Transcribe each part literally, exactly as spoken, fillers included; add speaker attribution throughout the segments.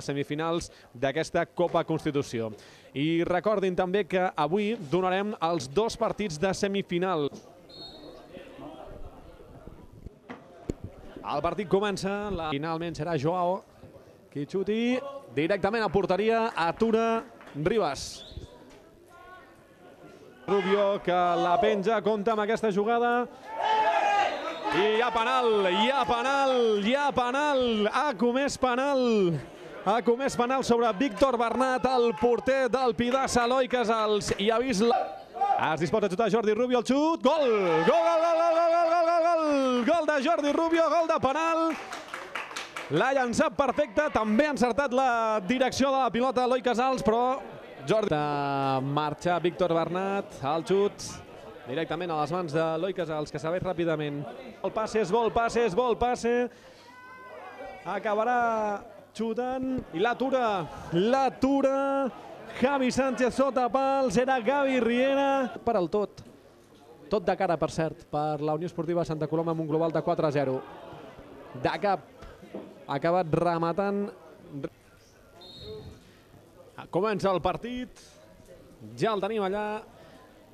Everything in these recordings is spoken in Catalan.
Speaker 1: les semifinals d'aquesta Copa Constitució. I recordin també que avui donarem els dos partits de semifinal. El partit comença, la... finalment serà Joao qui xuti directament a porteria, atura Ribas. Rubio que la penja, compta amb aquesta jugada. I hi ha penal, hi ha penal, hi ha penal, ha comès penal. Ha comès penal sobre Víctor Bernat, el porter del Pidassa, Eloi Casals. I ha vist la... Es disposa a xutar Jordi Rubio, el xut, gol! Gol, gol, gol, gol, gol, gol, gol, gol! Gol de Jordi Rubio, gol de penal. L'ha llançat perfecte, també ha encertat la direcció de la pilota Eloi Casals, però Jordi... Marxa Víctor Bernat, el xut directament a les mans d'Eloi Casals, que s'abaix ràpidament. El passe és bo, el passe és bo, el passe. Acabarà xutant i l'atura, l'atura. Javi Sánchez sota pals, era Gavi Riera. Per al tot, tot de cara, per cert, per la Unió Esportiva Santa Coloma amb un global de quatre a zero. De cap, ha acabat rematant. Comença el partit, ja el tenim allà.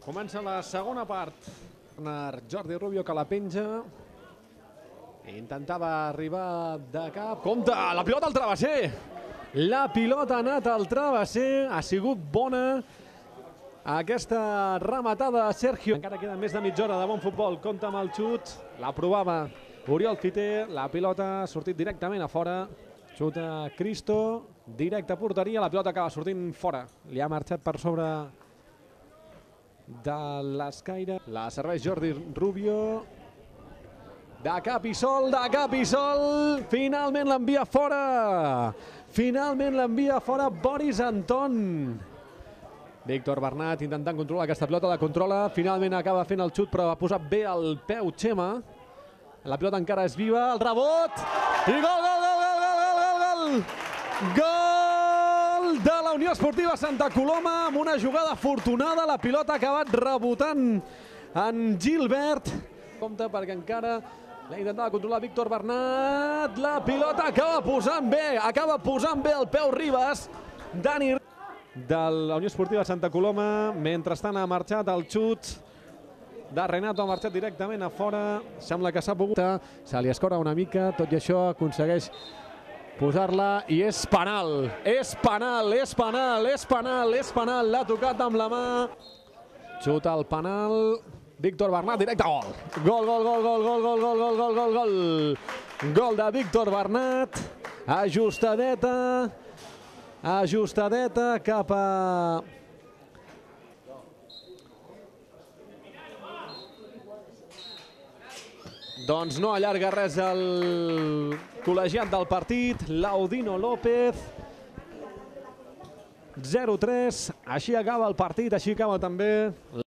Speaker 1: Comença la segona part. Jordi Rubio que la penja. Intentava arribar de cap. Compte, la pilota al travesser. La pilota ha anat al travesser. Ha sigut bona aquesta rematada de Sergio. Encara queda més de mitja hora de bon futbol. Compte amb el xut. La provava Oriol Fiter. La pilota ha sortit directament a fora. Xuta Cristo. Directe a porteria. La pilota acaba sortint fora. Li ha marxat per sobre de l'escaire. La serveix Jordi Rubio. De cap i sol, de cap i sol. Finalment l'envia fora. Finalment l'envia fora Boris Anton. Víctor Bernat intentant controlar aquesta pilota. La controla. Finalment acaba fent el xut, però ha posat bé el peu Xema. La pilota encara és viva. El rebot. I gol, gol, gol, gol, gol, gol, gol, gol. Gol de la Unió Esportiva Santa Coloma amb una jugada afortunada. La pilota ha acabat rebotant en Gilbert. Compte perquè encara l'ha intentat controlar Víctor Bernat. La pilota acaba posant bé, acaba posant bé el peu Ribas. Dani de la Unió Esportiva Santa Coloma. Mentrestant ha marxat el xut de Renato, ha marxat directament a fora. Sembla que s'ha pogut. Se li escora una mica, tot i això aconsegueix posar-la i és penal. És penal, és penal, és penal, és penal. L'ha tocat amb la mà. Xuta el penal. Víctor Bernat, directe, gol. Gol, gol, gol, gol, gol, gol, gol, gol, gol, gol, gol. Gol de Víctor Bernat. Ajustadeta. Ajustadeta cap a... Doncs no allarga res el col·legiat del partit, Laudino López. zero tres, així acaba el partit, així acaba també...